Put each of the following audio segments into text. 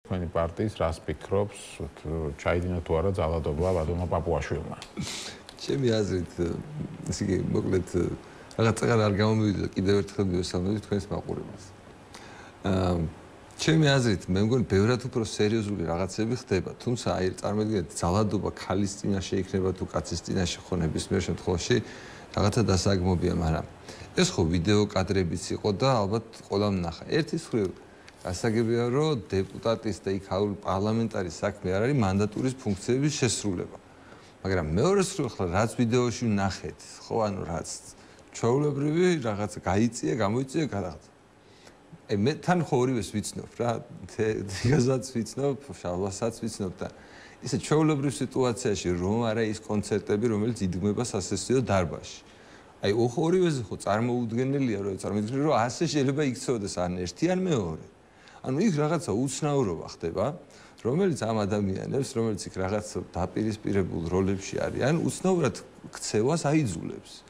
თქვენი პარტიის რას ფიქრობს, ჩაიდინა თუ არა ძალადობა ვადიმა პაპუაშვილმა? ჩემი აზრით, ესე იგი, მოკლედ რაღაცა არ გამომივიდა კიდევ ერთხელ მივესალმები თქვენს მაყურებელს. ჩემი აზრით, მე მგონი ბევრად უფრო სერიოზული რაღაცები ხდება, თუმცა აი წარმოგიდგენთ, ძალადობა ქალის წინაშე იქნება თუ კაცის წინაშე ხო ნებისმიერ შემთხვევაში რაღაცა დასაგმობია, მაგრამ ეს ხო ვიდეო კადრებიც იყო და ალბათ ყველამ ნახა. ერთის მხრივ გასაგებია, რომ დეპუტატის და იქაური პარლამენტარის საქმე არ არის მანდატურის ფუნქციების შესრულება. მაგრამ მეორეს მხრივ ახლა რაც ვიდეოში ვნახეთ, ხო, ანუ რაც ჩვეულებრივი რაღაცა გაიწია, გამოიწია რაღაცა. მე თან ხო ორივეს ვიცნობ რა, თიგაზაც ვიცნობ, შალვასაც ვიცნობ და ისე ჩვეულებრივ სიტუაციაში რომ არა ის კონცერტები, რომელიც იდგმება სასესიო დარბაზში. აი ორივეზე ხო წარმოუდგენელია, რომ წარმოიდგინე, რომ ასე შეიძლება იქცეოდეს ან ერთი ან მეორე. ანუ იქ რაღაცა უცნაურობა ხდება, რომელიც ამ ადამიანებს, რომელიც იქ რაღაც დაპირისპირებულ როლებში არიან, უცნაურად ქცევას აიძულებს.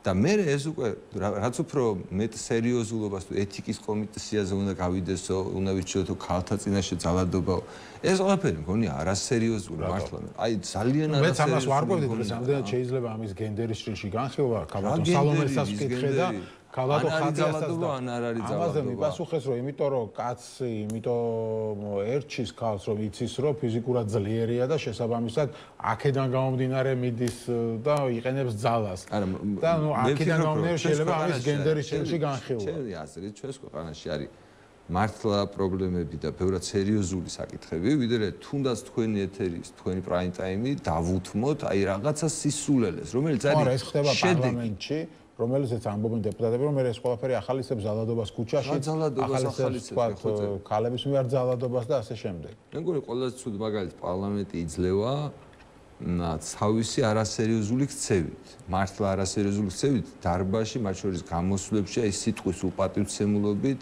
და მე ეს უკვე რაც უფრო მეტ სერიოზულობას თუ ეთიკის კომისიაზე უნდა გავიდესო, უნდა ვიჩვენო ქალთა წინაშე ძალადობა. ეს ყველაფერი მგონი არასერიოზული მართლა. აი ძალიან არასერიოზული. მეც ამას ვარკვევდი, რომ სამდენად შეიძლება ამის გენდერის შრილში განხილვა, ქალბატონ სალომესაც ვკითხე და ქალბატონ ხატიასთან ან არ არის ძალადობა. ამაზე მიპასუხეს, რომ იმიტომ რომ კაცი, იმიტომ ერჩის ქალს, რომ იცის, რომ ფიზიკურად ძლიერია და შესაბამისად აქედან გამომდინარე მიდის და იყენებს ძალას. და ნუ აქედან გამომდინარე შეიძლება ამის გენდერის შრილში განხილვა. ჩემი აზრით, ჩვენს ქვეყანაში არის მართლა პრობლემები და ბევრად სერიოზული საკითხები, ვიდრე თუნდაც თქვენი ეთერის, თქვენი პრაიმ ტაიმი დავუთმოთ აი რაღაცა სისულელეს, რომელიც არის ეს ხდება პარლამენტში, რომელზეც ამბობენ დეპუტატები, რომ ეს ყველაფერი ახალისებს ძალადობას ქუჩაში, ახალისებს ქალების მიერ ძალადობას და ასე შემდეგ. მე მგონი ყველაზე ცუდი მაგალითი პარლამენტი იძლევა თავისი არასერიოზული ქცევით, მართლა არასერიოზული ქცევით დარბაზში, მათ შორის გამოსვლებში, აი სიტყვის უპატივცემულობით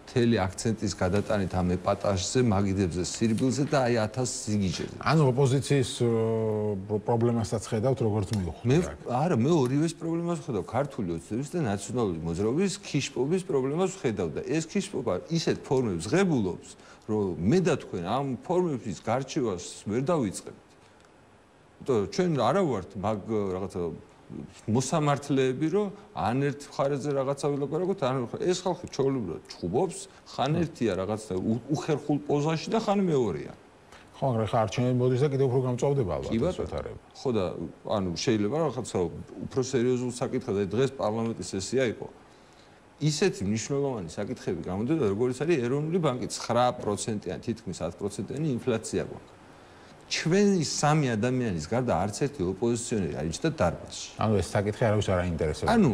მთელი აქცენტის გადატანით ამ ეპატაჟზე, მაგიდებზე, სირბილზე და აი 1000 ზიგიჟეზე. ანუ ოპოზიციის პრობლემასაც ხედავთ, როგორც მიუხვდა. არა, მე ორივეს პრობლემას ვხედავ, ქართული ოცნების და ნაციონალური მოძრაობის ქიშპობის პრობლემას ვხედავ და ეს ქიშპობა ისეთ ფორმებს ღებულობს, რომ მე და თქვენ ამ ფორმების გარჩევას ვერ დავიწყებთ. იმიტომ ჩვენ არა ვართ მაგ რაღაცა მოსამართლეები, რომ ან ერთ მხარეზე რაღაცა ვილაპარაკოთ, ან ეს ხალხი ჩვეულებრივად ჩხუბობს, ხან ერთია რაღაცა უხერხულ პოზაში და ხან მეორეა. ხო, მაგრამ ხა არჩევნები მოდის და კიდევ უფრო გამწვავდება ალბათ ეს ვეთარება. ხო და ანუ შეიძლება რაღაცა უფრო სერიოზულ საკითხად, აი დღეს პარლამენტის სესია იყო. ისეთი მნიშვნელოვანი საკითხები გამოდიოდა, როგორც არის ეროვნული ბანკი 9%-იანი, თითქმის 10%-იანი ინფლაცია გვაქვს. ჩვენი სამი ადამიანის გარდა არც ერთი ოპოზიციონერი არ იჯდა დარბაზში. ანუ ეს საკითხი არავის არ აინტერესებს. ანუ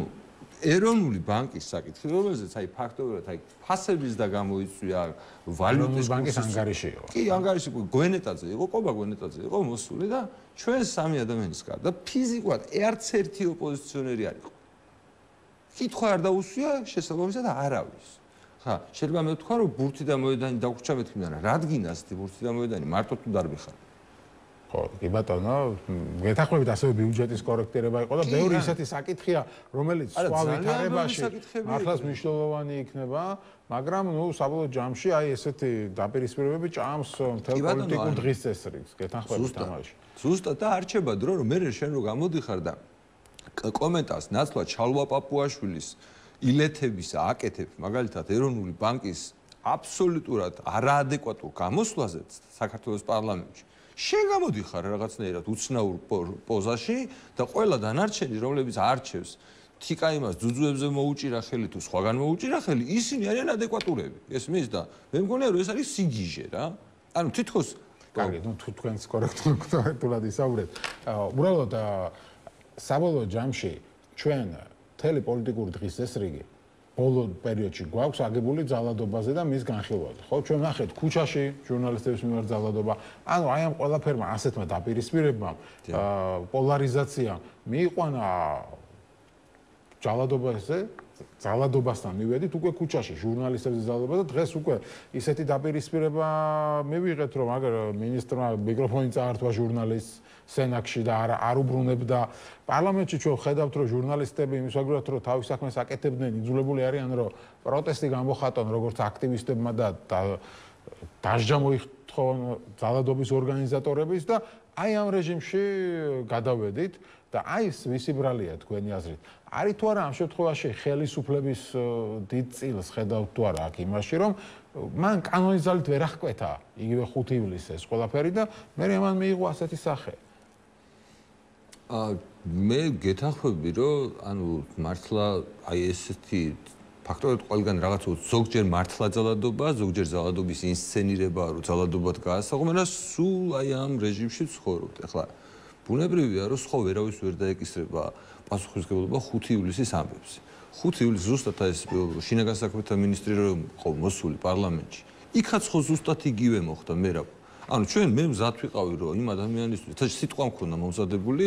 ეროვნული ბანკის საკითხი, რომელზეც აი ფაქტობრივად აი ფასების და გამოიწვია ვალუტის ბანკის ანგარიში იყო. კი, ანგარიში გვენეტაძე იყო, ყობა გვენეტაძე იყო მოსული და ჩვენ სამი ადამიანის გარდა ფიზიკურად არც ერთი ოპოზიციონერი არ იყო. კითხვა არ დაუსვია შესაბამისად არავის. ხა, შეიძლება მე ვთქვა, რომ ბურთი და მოედანი დაგვრჩა მეთქიმდან, რადგინას ბურთი და მოედანი მარტო თუ დარბიხარ. ხო, კი ბატონო, გეთახმებით ასევე ბიუჯეტის კორექტირება იყო და ბევრი ისეთი საკითხია, რომელიც სხვა ვითარებაში მართლაც მნიშვნელოვანი იქნება, მაგრამ ნუ საბოლოო ჯამში აი ესეთი დაპირისპირებები ჭამს მთელ პოლიტიკურ დღის წესრიგს, გეთახმებით ამაში. ზუსტად და არჩება დრო, რომ მე შენ რო გამოდიხარ და კომენტარს ნაცვლად ჩალვა პაპუაშვილის ილეთების აკეთებ, მაგალითად ეროვნული ბანკის აბსოლუტურად არაადეკვატურ გამოსვლაზე საქართველოს პარლამენტში. შენ გამოდიხარ რაღაცნაირად უცნაურ პოზაში და ყველა დანარჩენი, რომლებიც არჩევს თიკა იმას ძუძუებზე მოუჭირა ხელი თუ სხვაგან მოუჭირა ხელი, ისინი არიან ადეკვატურები. ესმის და მე მგონია, რომ ეს არის სიგიჟე რა. ანუ თითქოს კარგი, ნუ თუ თქვენს კორექტულად ისაუბრეთ. უბრალოდ საბოლოო ჯამში ჩვენ მთელი პოლიტიკური დღის წესრიგი ბოლო პერიოდში გვაქვს აგებული ძალადობაზე და მის განხილვაზე. ხო, ჩვენ ნახეთ ქუჩაში ჟურნალისტების მიმართ ძალადობა. ანუ აი ამ ყველაფერმა ასეთმა დაპირისპირებამ, პოლარიზაციამ მიიყვანა ძალადობასთან მივედით უკვე ქუჩაში ჟურნალისტების ძალადობა და დღეს უკვე ისეთი დაპირისპირება მივიღეთ, რომ აგერ მინისტრმა მიკროფონი წაართვა ჟურნალისტს სენაკში და არ უბრუნებდა. პარლამენტში ჩვენ ხედავთ, რომ ჟურნალისტები იმის ვაგრად რომ თავის საქმეს აკეთებდნენ, იძულებული არიან, რომ პროტესტი გამოხატონ როგორც აქტივისტებმა და დასჯა მოიხდონ ძალადობის ორგანიზატორების და აი ამ რეჟიმში გადავედით და აი ეს ვისი ბრალია თქვენი აზრით არის თუ არა ამ შემთხვევაში ხელისუფლების დიდ წილს ხედავთ თუ არა აქ იმაში რომ მან კანონის ძალით ვერ აღკვეთა იგივე 5 ივლისს ეს ყველაფერი და მე მან მიიღო ასეთი სახე მე გეთანხმები რომ ანუ მართლა აი ესეთი ფაქტორად ყველგან რაღაცა ზოგჯერ მართლა ძალადობა ზოგჯერ ძალადობის ინსცენირება რომ ძალადობად გაასაღო მაგრამ სულ აი ამ რეჟიმში ცხოვრობთ ახლა ბუნებრივია რომ სხვა ვერავის ვერ დაეკისრება პასუხისმგებლობა 5 ივლისის ამბებს 5 ივლისს ზუსტად ეს შინაგან საქმეთა მინისტრი რომ ყო მოსული პარლამენტში იქაც ხო ზუსტად იგივე მოხდა მე რა ანუ ჩვენ მე მზად ვიყავი რომ იმ ადამიანისთვის თუმცა სიტყვა მქონდა მომზადებული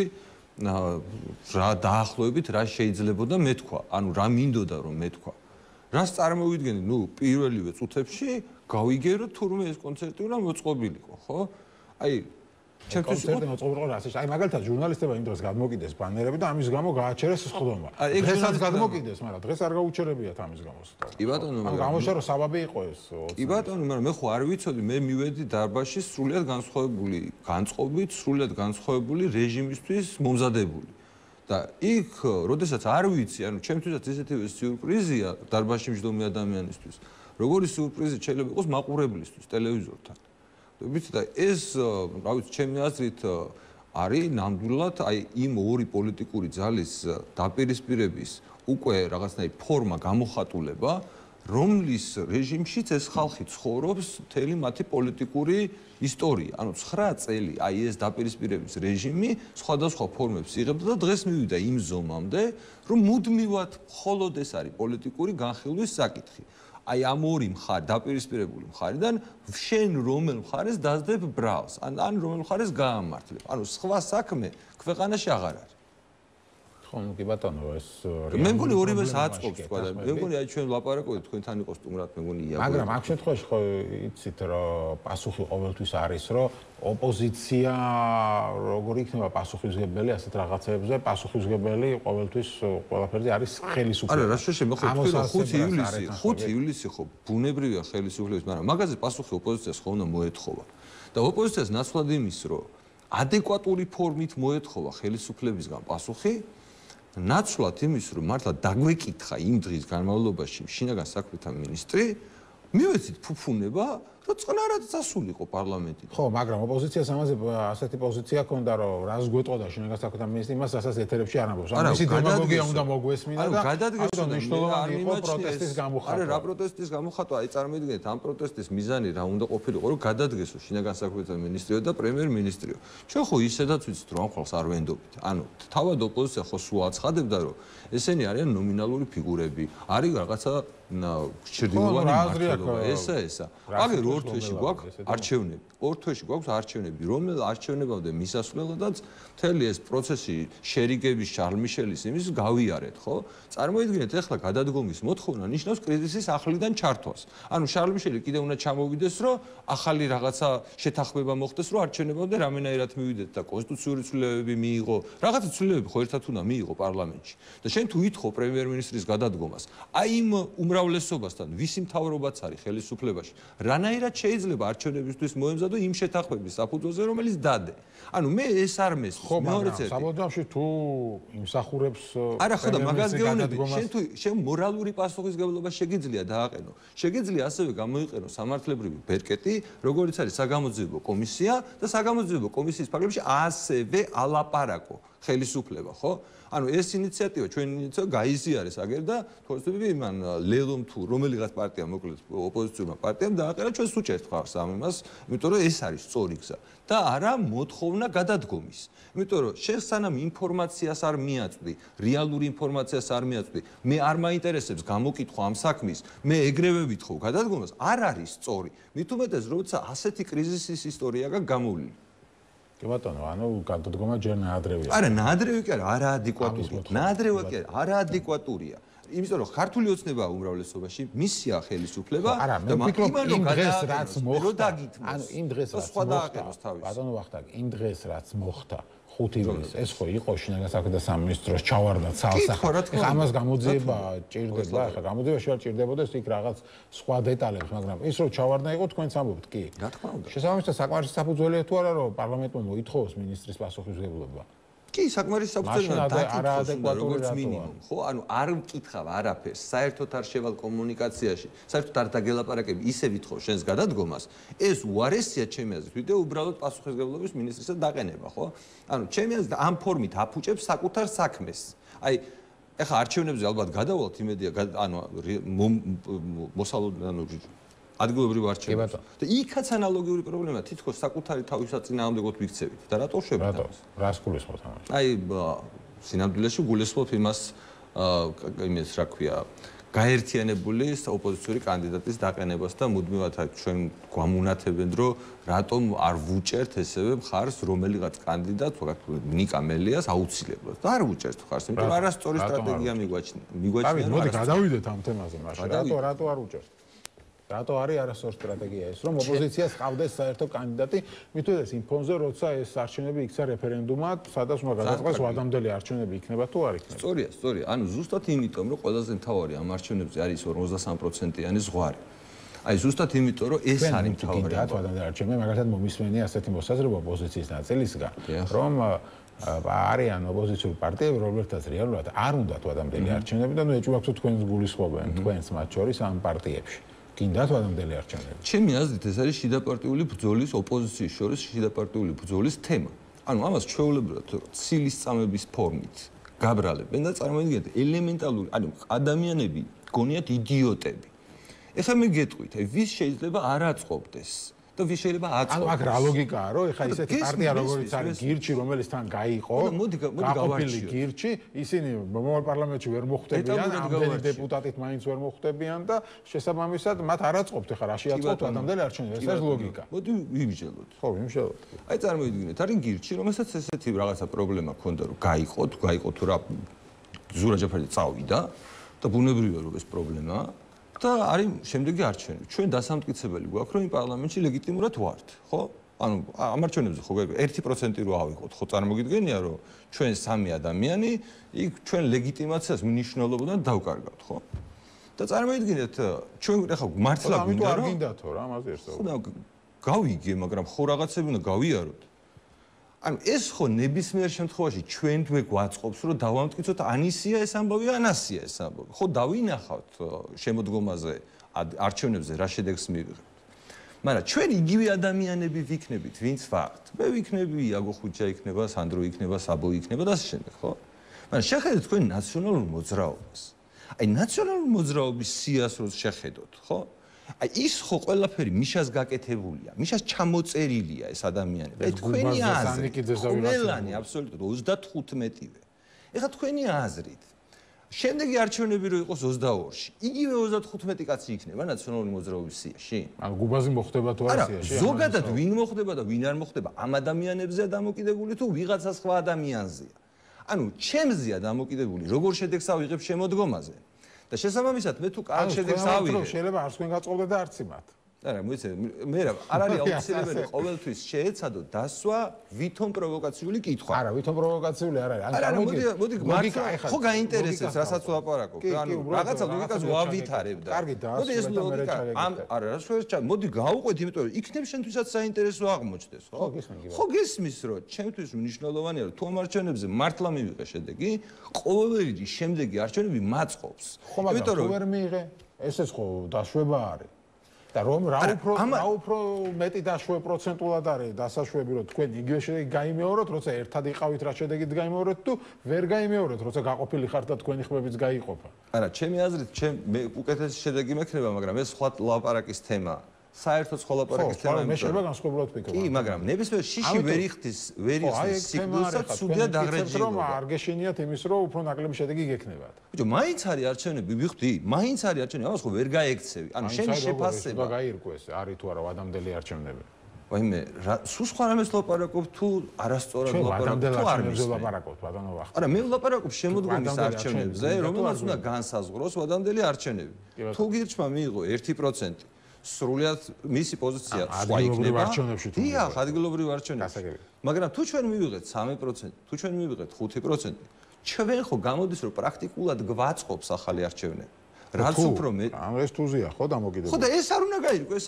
რა დაახლოებით რა შეიძლებოდა მეთქვა ანუ რა მინდოდა რომ მეთქვა რას წარმოვიდგენთ ნუ პირველივე წუთებში გავიგერო თურმე ეს კონცერტი უნდა მოწყობილიყო ხო აი ჩემთვის კონცერტი მოწყობილიყო რასაც აი მაგალითად ჟურნალისტებმა იმ დროს გადმოკიდეს ბანერები და ამის გამო გააჩერეს სხდომა დღესაც გადმოკიდეს მაგრამ დღეს არ გაუჩერებიათ ამის გამო კი ბატონო მაგრამ გამოშა რომ საბაბი იყო ეს კი ბატონო მაგრამ მე ხო არ ვიცოდი მე მივედი დარბაზში სრულიად განსხვავებული განწყობით სრულიად განსხვავებული რეჟიმისთვის მომზადებული და იქ როდესაც არ ვიცი ანუ ჩემთვისაც ესეთივე სიურპრიზია დარბაზში მჯდომი ადამიანისთვის როგორი სიურპრიზი შეიძლება იყოს მაყურებლისთვის ტელევიზორთან ვიცი და ეს რა ვიცი ჩემი აზრით არის ნამდვილად აი იმ ორი პოლიტიკური ძალის დაპირისპირების უკვე რაღაცნაირი ფორმა გამოხატულება რომლის რეჟიმშიც ეს ხალხი ცხოვრობს მთელი მათი პოლიტიკური ისტორია ანუ 9 წელი აი ეს დაპირისპირების რეჟიმი სხვადასხვა ფორმებს იღებდა და დღეს მივიდა იმ ზომამდე რომ მუდმივად მხოლოდ ეს არის პოლიტიკური განხილვის საკითხი აი ამ ორი მხარე დაპირისპირებული მხარიდან შენ რომელ მხარეს დაძდებ ბრალს ან რომელ მხარეს გაამართლებ ანუ სხვა საქმე ქვეყანაში აღარ არის ხო ნუ კი ბატონო ეს მე მგონი ორივეს აწყობს თქვა და მე მგონი აი ჩვენ ვლაპარაკობთ თქვენთან იყო სტუმრად მე მგონი ია მაგრამ ამ შემთხვევაში ხო იცით რომ პასუხი ყოველთვის არის რომ ოპოზიცია როგორ იქნება პასუხისმგებელი ასეთ რაღაცებზე პასუხისმგებელი ყოველთვის ყველაფერზე არის ხელისუფლება არა რა შეიძლება ხო 5 ივლისი ხო ბუნებრივია ხელისუფლების მაგრამ მაგაზე პასუხი ოპოზიციას ხო უნდა მოეთხოვა და ოპოზიციას ნაცვლად იმის რომ ადეკვატური ფორმით მოეთხოვა ხელისუფლებისგან პასუხი ნაცვლად იმის რომ მართლა დაგვეკითხა იმ დღის განმავლობაში შინაგან საქმეთა მინისტრი მივეცით ფუფუნება რომ წყნარად წასულიყო პარლამენტი ხო მაგრამ ოპოზიციას ამაზე ასეთი პოზიცია ჰქონდა რომ რას გვეტყოდა შინაგან საქმეთა მინისტრი იმას ასაც ეთერებში არ ამბობს ანუ მისი დემაგოგია უნდა მოგვესმინა და გადადგესო მნიშვნელოვანი იყო პროტესტის გამოხატვა არა რა პროტესტის გამოხატვა აი წარმოიდგინეთ ამ პროტესტის მიზანი რა უნდა ყოფილიყო რომ გადადგესო შინაგან საქმეთა მინისტრიო და პრემიერ-მინისტრიო ჩვენ ხო ისედაც ვიცით რომ ამ ხალხს არ ვენდობთ ანუ თავად ოპოზიცია ხო სულ აცხადებდა რომ ესენი არიან ნომინალური ფიგურები არის რაღაცა ჩრდილოვანი მმართველობა ესა აგერ ორ თვეში გვაქვს არჩევნები ორ თვეში გვაქვს არჩევნები რომელ არჩევნებამდე მისასვლელადაც მთელი ეს პროცესი შერიგების შარლ მიშელის იმის გავიარეთ ხო წარმოიდგინეთ ახლა გადადგომის მოთხოვნა ნიშნავს კრიზისის ახლიდან ჩართვას ანუ შარლ მიშელი კიდე უნდა ჩამოვიდეს რომ ახალი რაღაცა შეთანხმება მოხდეს რომ არჩევნებამდე რამენაირად მივიდეთ და კონსტიტუციური ცვლილებები მიიღო რაღაცა ცვლილებები ხო ერთად უნდა მიიღო პარლამენტში და შენ თუ ვითხოვ პრემიერ-მინისტრის გადადგომას აი იმ უმრავლესობასთან ვისი მთავრობაც არის ხელისუფლებაში რანაირად შეიძლება არჩევნებისთვის მოემზადო იმ შეთანხმების საფუძველზე რომელიც დადე ანუ მე ეს არ მესმის ხო მაგრამ საბოლოოში თუ იმსახურებს არა ხო და მაგას გეუბნები შენ თუ შენ მორალური პასუხისმგებლობა შეგიძლია დააყენო შეგიძლია ასევე გამოიყენო სამართლებრივი ბერკეტი როგორც არის საგამოძიებო კომისია და საგამოძიებო კომისიის ფარგლებში ასევე ალაპარაკო ხელისუფლება ხო ანუ ეს ინიციატივა ჩვენი ინიციატივა გაიზიარეს აგერ და თორსები იმან ლელომ თუ რომელიღაც პარტია მოკლედ ოპოზიციურმა პარტიამ დააყენა ჩვენ სუჭერთ ხარს ამ იმას იმიტომ რომ ეს არის სწორი გზა და არა მოთხოვნა გადადგომის იმიტომ რომ შენ სანამ ინფორმაციას არ მიაწვდი რეალური ინფორმაციას არ მიაწვდი მე არ მაინტერესებს გამოკითხვა ამ საქმის მე ეგრევე ვითხოვ გადადგომას არ არის სწორი მით უმეტეს როცა ასეთი კრიზისის ისტორია გამოვლინდა კი ბატონო, ანუ გადადგომა ჯერ ნაადრევია. არა, ნაადრევი კი არა, არაადეკვატურია. ნაადრევა კი არა, არაადეკვატურია. იმიტომ რომ ქართული ოცნება უმრავლესობაში მისია ხელისუფლება და იმ დღეს რაც მოხდა, ანუ იმ დღეს რაც მოხდა, ბატონო ვახტანგ, იმ დღეს რაც მოხდა, 5 ივლის ეს ხო იყო შინაგან საქმეთა სამინისტროს ჩავარდა ცალსახად. ეხლა ამას გამოძიება ჭირდება, ეხლა გამოძიებაში არ ჭირდებოდეს იქ რაღაც სხვა დეტალებს, მაგრამ ის რომ ჩავარდა იყო თქვენც ამბობთ, კი. რა თქმა უნდა. შესაბამისად საკმარისი საფუძველია თუ არა რომ პარლამენტმა მოითხოვოს ministris პასუხისმგებლობა. კი, საკმარისი საფუძველია დაკითხოს როგორც მინიმუმ, ხო? ანუ არ მკითხავ არაფერს, საერთოდ არ შევალ კომუნიკაციაში, საერთოდ არ დაგელაპარაკებ, ისე ვითხოვ შენს გადადგომას. ეს უარესია ჩემი აზრით, ვიდრე უბრალოდ პასუხისმგებლობის ministrisად დაყენება, ხო? ანუ ჩემი აზრით ამ ფორმით აფუჭებს საკუთარ საქმეს. აი, ეხლა არჩევნებზე ალბათ გადავალთ იმედია, ანუ მოსალოდ ანუ ადგილობრივ არჩევნებს. და იქაც ანალოგიური პრობლემაა, თითქოს საკუთარი თავისაც წინააღმდეგოთ ვიქცევით. და რატო შვებით ამას? რას გულისხმობთ ამაში? აი, სინამდვილეში გულისხმობ იმას, იმის რა ქვია, გაერთიანებული ოპოზიციური კანდიდატის დაყენებას და მუდმივად ჩვენ გვამუნათებენ, რომ რატომ არ ვუჭერთ ესევე მხარს რომელიღაც კანდიდატს, ნიკა მელიას აუცილებლად. და არ ვუჭერთ მხარს, იმიტომ რომ არასწორი სტრატეგია მიგვაჩნია. დავით, მოდი გადავიდეთ ამ თემაზე მაშინ. რატო არ უჭერთ? რატო არის არასწორი სტრატეგია ეს, რომ ოპოზიციას ყავდეს საერთო კანდიდატი, მithmetes იმ ფონზე, როცა ეს არჩევნები იქცა რეფერენდუმად, სადაც უნდა გადაწყვეტოს ვადამდელი არჩევნები იქნება თუ არ იქნება. სწორია. ანუ ზუსტად იმიტომ, რომ ყველაზე მთავარი ამ არჩევნებზე არის 53%-იანი ზღვარი. აი ზუსტად იმიტომ, რომ ეს არის მთავარი. ვადამდელი არჩევნები, მაგალითად მომისმენია ასეთი მოსაზრება ოპოზიციის ნაწილისგან, რომ არიან ოპოზიციური პარტიები, რომლებთაც რეალურად არ უნდათ ვადამდელი არჩევნები და ნუ ეჭვმაგდოთ თქვენს გულისხმობენ, თქვენს მათ შორის ამ პარტიებში. გინდათ ვადამდელი არჩევნები. ჩემი აზრით ეს არის შიდაპარტიული ბრძოლის ოპოზიციის შორის შიდაპარტიული ბრძოლის თემა. ანუ ამას ჩვეულებრივად ცილის წამების ფორმით გაბრალებენ და წარმოიდგინეთ ელემენტალური, ანუ ადამიანები გონიათ იდიოტები. ეხლა მე გეტყვით, ვის შეიძლება არ აწყობდეს და ვის შეიძლება აწყობდეს. ანუ აქ რა ლოგიკაა, რომ ეხლა ისეთი პარტია როგორიც არის გირჩი, რომელიც თან გაიყო, გაყოფილი გირჩი, ისინი მომავალ პარლამენტში ვერ მოხვდებიან, ამდენი დეპუტატით მაინც ვერ მოხვდებიან და შესაბამისად მათ არ აწყობთ ეხლა რა შეაწყობთ ვადამდელი არჩევნები. ეს არის ლოგიკა. მოდი ვიმსჯელოთ. ხო, ვიმსჯელოთ. აი წარმოიდგინეთ, არის გირჩი, რომელსაც ესეთი რაღაცა პრობლემა ჰქონდა, რომ გაიყო თუ რა ზურა ჯაფარი წავიდა და ბუნებრივია რომ ეს პრობლემაა. და არის შემდეგი არჩევნები. ჩვენ დასამტკიცებელი გვაქვს, რომ იმ პარლამენტში ლეგიტიმურად ვართ, ხო? ანუ ამ არჩევნებზე ხო 1% რო ავიღოთ, ხო წარმოგიდგენია, რომ ჩვენ სამი ადამიანი იქ ჩვენ ლეგიტიმაციას მნიშვნელობიდან დავკარგავთ, ხო? და წარმოიდგინეთ, ჩვენ ეხლა მართლა გვინდა რომ არ გინდათო რა, ამაზე ერთად. ხო და გავიგე, მაგრამ ხო რაღაცები უნდა გავიაროთ. ანუ ეს ხო ნებისმიერ შემთხვევაში ჩვენთვე გვაწყობს, რომ დავამტკიცოთ ანისია ეს ამბავი, ანასია ეს ამბავი. ხო დავინახავთ შემოდგომაზე არჩევნებზე რა შედეგს მივიღებთ. მაგრამ ჩვენ იგივე ადამიანები ვიქნებით, ვინც ვართ. მე ვიქნები, იაგო ხუჭა იქნება, სანდრო იქნება, საბო იქნება და ასე შემდეგ, ხო? მაგრამ შეხედეთ თქვენ ნაციონალურ მოძრაობას. აი ნაციონალური მოძრაობის სიას რო შეხედოთ, ხო? აი ის ხო ყველაფერი მიშას გაკეთებულია, მიშას ჩამოწერილია ეს ადამიანები. აი თქვენი აზრით, ყველანი აბსოლუტურად 35-ვე. ეხლა თქვენი აზრით, შემდეგი არჩევნები რო იყოს 22-ში, იგივე 35 კაცი იქნება ნაციონალური მოძრაობის სიაში? ანუ გუბაზი მოხდება თუ არ სიაში? ზოგადად ვინ მოხდება და ვინ არ მოხდება, ამ ადამიანებზეა დამოკიდებული თუ ვიღაცა სხვა ადამიანზეა. ანუ ჩემზეა დამოკიდებული, როგორ შედეგს ავიღებ შემოდგომაზე. და შესაბამისად მე თუ კარგ შედეგს ავიღებ, შეიძლება არც თქვენ გაწყობდეთ და არც იმათ. არა, მოიცადე, მე არ არის აუცილებელი ყოველთვის შეეცადო დასვა ვითომ პროვოკაციული კითხვა. არა, ვითომ პროვოკაციული არ არის. არა, მოდი მართლა ხო გაინტერესებს, რასაც ვლაპარაკობ. ანუ რაღაცა ლოგიკას ვავითარებ და. მოდი ეს ლოგიკა არა, რა შეიძლება, მოდი გავუყვეთ, იმიტომ რომ იქნებ შენთვისაც საინტერესო აღმოჩნდეს, ხო? ხო გესმის, რომ ჩემთვის მნიშვნელოვანია, რომ თუ ამ არჩევნებზე მართლა მივიღე შედეგი, ყოველი შემდეგი არჩევნები მაწყობს. იმიტომ რომ ვერ მიიღე, ესეც ხო დაშვება არის. და რომ რა უფრო მეტი დაშვე პროცენტულად არის დასაშვები, რომ თქვენ იგივე შედეგი გაიმეოროთ, როცა ერთად იყავით რა შედეგით გაიმეორეთ თუ ვერ გაიმეორეთ, როცა გაყოფილი ხართ და თქვენი ხმებიც გაიყოფა. არა, ჩემი აზრით, მე უკეთესი შედეგი მექნება, მაგრამ ეს სხვა ლაპარაკის თემაა. საერთოდ სხვა ლაპარაკის თემა მე შეიძლება განსხვავებულად ვფიქრობ. კი, მაგრამ ნებისმიერ შიში ვერ იხდის სიგნალსაც სუდია დაღრეჯილობა. რომ არ გეშინიათ იმის, რომ უფრო ნაკლები შედეგი გექნებათ. ბიჭო, მაინც არის არჩევნები, ვიხდი, მაინც არის არჩევნები, ამას ხო ვერ გაექცევი. ანუ შენი შეფასება გაირკვეს, არის თუ არა ვადამდელი არჩევნები. ვაიმე, სულ სხვა რამეს ლაპარაკობ თუ არასწორად ლაპარაკობ თუ არ ლაპარაკობ, ბატონო ვახტი. არა, მე ვლაპარაკობ შემოდგომის არჩევნებზე, რომელსაც უნდა განსაზღვროს ვადამდელი არჩევნები. თუ გირჩმა მიიღო 1%, სრულიად მისი პოზიცია სხვა იქნება. დიახ, ადგილობრივ არჩევნებში. მაგრამ თუ ჩვენ მივიღეთ 3%, თუ ჩვენ მივიღეთ 5%, ჩვენ ხო გამოდის რომ პრაქტიკულად გვაწყობს ახალი არჩევნები. რაც უფრო მე ამ ეს თუზია ხო დამოკიდებული. ხო და ეს არ უნდა გაირკვე ეს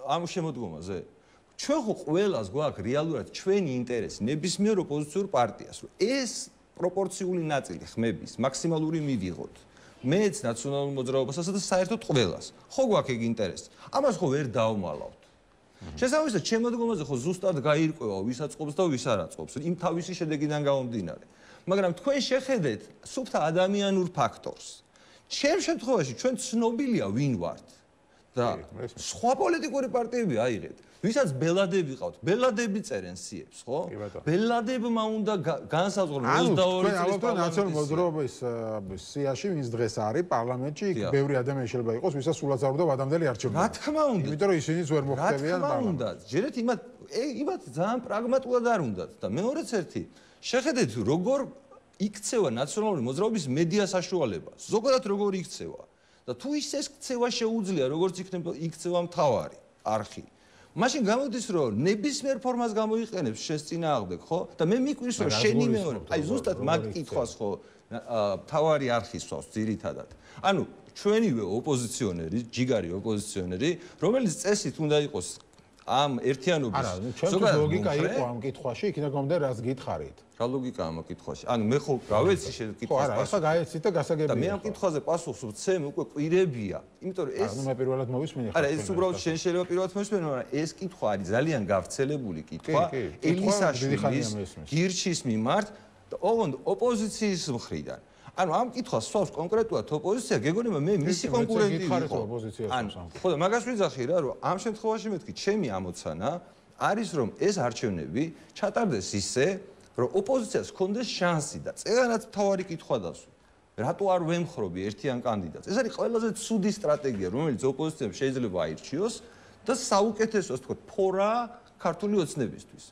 ამ შემოდგომაზე. ჩვენ ხო ყველას გვაქვს რეალურად ჩვენი ინტერესი ნებისმიერ ოპოზიციურ პარტიას, რომ ეს პროპორციული ნაწილი ხმების მაქსიმალური მივიღოთ. მეც ნაციონალურ მოძრაობასაც და საერთოდ ყველას. ხო გვაქვს ეგ ინტერესი. ამას ხო ვერ დავმალავთ. შესაბამისად, შემოდგომაზე ხო ზუსტად გაირკვევა ვის აწყობს და ვის არ აწყობს, იმ თავისი შედეგიდან გამომდინარე. მაგრამ თქვენ შეხედეთ სუფთა ადამიანურ ფაქტორს. ჩემ შემთხვევაში ჩვენ ცნობილია ვინ ვართ და სხვა პოლიტიკური პარტიები აიღეთ. ვისაც ბელადები ყავთ, ბელადები წერენ სიებს, ხო? ბელადებმა უნდა განსაზღვრონ 22 წლის ნაციონალურ მოძრაობის სიაში, ვინც დღეს არის პარლამენტში, იქ ბევრი ადამიანი შეიძლება იყოს, ვისაც სულაც არ უნდა ვადამდელი არჩევნები. რა თქმა უნდა. იმიტომ რომ ისინიც ვერ მოხდებიან პარლამენტში. რა თქმა უნდა. ჯერეთ იმათ ძალიან პრაგმატულად არ უნდათ და მეორეც ერთი, შეხედეთ როგორ იქცევა ნაციონალური მოძრაობის მედია საშუალება. ზოგადად როგორ იქცევა და თუ ის ეს ქცევა შეუძლია, როგორც იქცევა მთავარი არხი. მაშინ გამოდის რომ ნებისმიერ ფორმას გამოიყენებს შენს წინააღმდეგ, ხო? და მე მიკვირს რომ შენი მეორე, აი ზუსტად მაგ კითხვას ხო მთავარი არხი სვავს ძირითადად. ანუ ჩვენივე ოპოზიციონერი, ჯიგარი ოპოზიციონერი, რომელიც წესით უნდა იყოს ამ ერთიანობის ზოგადად ლოგიკა იყო ამ კითხვაში, იქიდან გამომდა რას გითხარით. რა ლოგიკაა ამ კითხვაში? ანუ მე ხო რა ვიცი ხო, შეკითხვას. არა, ახლა გაეცით და გასაგებია. და მე ამ კითხვაზე პასუხს ვცემ უკვე კვირებია. იმიტომ რომ ეს ანუ მე პირველად მოვისმინე. არა, ეს უბრალოდ შენ შეიძლება პირველად მოვისმინე, მაგრამ ეს კითხვა არის ძალიან გავრცელებული კითხვა ელისაშვილის გირჩის მიმართ და ოღონდ ოპოზიციის მხრიდან. ანუ ამ კითხვას სვავს კონკრეტულად ოპოზიცია, გეგონება მე მისი კონკურენტი ვიყო. ხო და მაგას ვიძახი რა, რომ ამ შემთხვევაში მეთქი, ჩემი ამოცანა არის რომ ეს არჩევნები ჩატარდეს ისე, რომ ოპოზიციას ჰქონდეს შანსი და წეგანაც მთავარი კითხვა დასვა. რატო არ ვემხრობი ერთიან კანდიდატს? ეს არის ყველაზე ცუდი სტრატეგია, რომელიც ოპოზიციამ შეიძლება აირჩიოს და საუკეთესო, ასე ვთქვათ, ფორა ქართული ოცნებისთვის.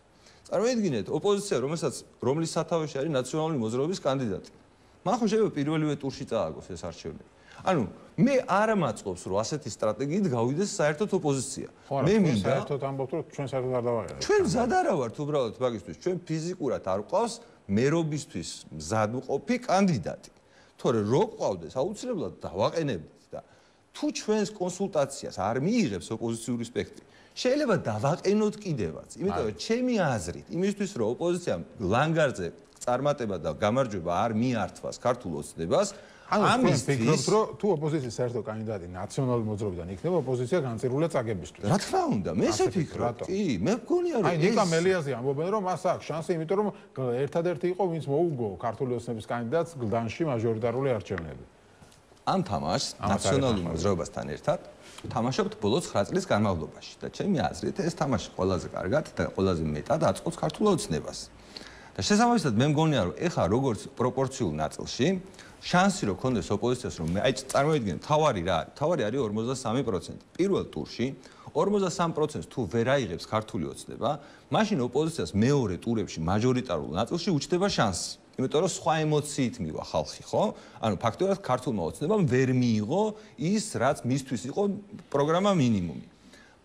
წარმოიდგინეთ, ოპოზიცია, რომლის სათავეში არის ნაციონალური მოძრაობის კანდიდატი. მან ხო შეიძლება პირველივე ტურში წააგოს ეს არჩევნები. ანუ მე არ მაწყობს რომ ასეთი სტრატეგიით გავიდეს საერთოდ ოპოზიცია. მე მინდა საერთოდ ამბობთ რომ ჩვენ საერთოდ არ დავაყენებთ. ჩვენ მზად არა ვართ უბრალოდ მაგისთვის. ჩვენ ფიზიკურად არ ყავს მერობისთვის მზად მყოფი კანდიდატი. თორე რო ყავდეს აუცილებლად დავაყენებდით და თუ ჩვენს კონსულტაციას არ მიიღებს ოპოზიციური სპექტრი, შეიძლება დავაყენოთ კიდევაც. იმიტომ რომ ჩემი აზრით, იმისთვის რომ ოპოზიციამ ლანგარზე წარმატება და გამარჯვება არ მიართვას ქართულ ოცნებას, ამის ფიქრობთ რომ თუ ოპოზიციის საერთო კანდიდატი ნაციონალური მოძრაობიდან იქნება, ოპოზიცია განწირულია წაგებისთვის. რა თქმა უნდა, მე ესე ვფიქრობ. კი, მე მგონია რომ აი ნიკა მელიაზე ამბობენ რომ მას აქვს შანსი, იმიტომ რომ ერთადერთი იყო ვინც მოუგო ქართული ოცნების კანდიდატს გლდანში მაჟორიტარული არჩევნები. ამ თამაშს ნაციონალურ მოძრაობასთან ერთად თამაშობთ ბოლო 9 წლის განმავლობაში და ჩემი აზრით ეს თამაში ყველაზე კარგად და ყველაზე მეტად აწყობს ქართულ ოცნებას. და შესაბამისად მე მგონია რომ ეხა როგორც პროპორციულ ნაწილში შანსი რო ქონდეს ოპოზიციას რომ აი წარმოიდგინეთ თავარი რა არის? თავარი არის 53%. პირველ ტურში 53%-ს თუ ვერ აიღებს ქართული ოცნება, მაშინ ოპოზიციას მეორე ტურებში მაჟორიტარულ ნაწილში უჩნდება შანსი. იმიტომ რომ სხვა ემოციით მივა ხალხი, ხო? ანუ ფაქტობრივად ქართულმა ოცნებამ ვერ მიიღო ის, რაც მისთვის იყო პროგრამა მინიმუმი.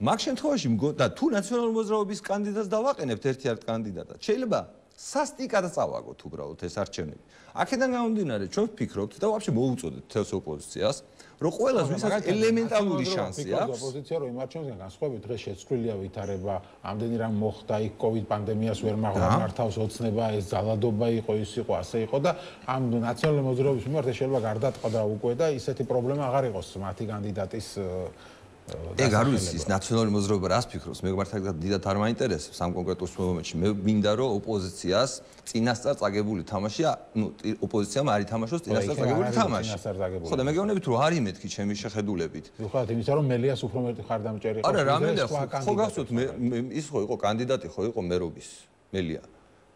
მაგ შემთხვევაში და თუ ნაციონალური მოძრაობის კანდიდატს დავაყენებთ ერთ-ერთ კანდიდატად, შეიძლება სასტიკად წავაგოთ უბრალოდ ეს არჩევნები. აქედან გამომდინარე, ჩვენ ვფიქრობთ და ვაფშე მოუწოდეთ თელს ოპოზიციას, რომ ყველას ვისაც ელემენტარული შანსი აქვს. ოპოზიცია რომ იმ არჩევნებიდან განსხვავებით დღეს შეცვლილია ვითარება, ამდენი რამ მოხდა, იქ COVID პანდემიას ვერ მართავს ოცნება, ეს ძალადობა იყო, ის იყო, ასე იყო და ამ ნაციონალური მოძრაობის მიმართ შეიძლება გარდატყდა უკვე და ისეთი პრობლემა აღარ იყოს მათი კანდიდატის ეგ არ ვიცი ის ნაციონალური მოძრაობა რას ფიქრობს მე მართლა დიდად არ მაინტერესებს ამ კონკრეტულ მომენტში მე მინდა რომ ოპოზიციას წინასწარ წაგებული თამაში ნუ ოპოზიციამ არ ითამაშოს წინასწარ წაგებული თამაში ხო და მე გეუბნებით რომ არის მეთქი ჩემი შეხედულებით ხო იმისა რომ მელიას უფრო მეტი ხარდამჭერი იყო არა რა მინდა ხო გახსოვთ მე ის ხო იყო კანდიდატი ხო იყო მერობის მელია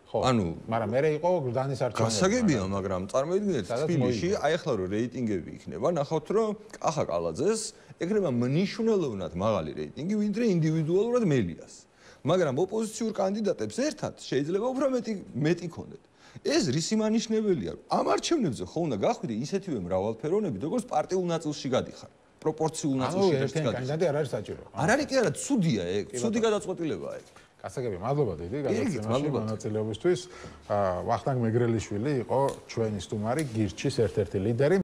ანუ მაგრამ მე იყო გლდანის არჩევნები გასაგებია მაგრამ წარმოიდგინეთ თბილისში აი ახლა რომ რეიტინგები იქნება ნახავთ რომ კახა კალაძეს ეკრება მნიშვნელოვნად მაღალი რეიტინგი ვინდრე ინდივიდუალურად მელიას მაგრამ ოპოზიციურ კანდიდატებს ერთად შეიძლება უფრო მეტი ქონდეთ ეს რისი მანიშნებელია ამ არჩევნებზე ხო უნდა გახვიდე ისეთივე მრავალფეროვნები როგორც პარტიულ ნაწილში გადიხარ პროპორციულ ანუ ნაწილში ერთიანი კანდიდატი არ არის საჭირო. არ არის კი არა, ცუდია ეგ, ცუდი გადაწყვეტილებაა ეგ. გასაგები, მადლობა დიდი გადაცემაში მონაწილეობისთვის. ვახტანგ მეგრელიშვილი იყო ჩვენი სტუმარი, გირჩის ერთ-ერთი ლიდერი.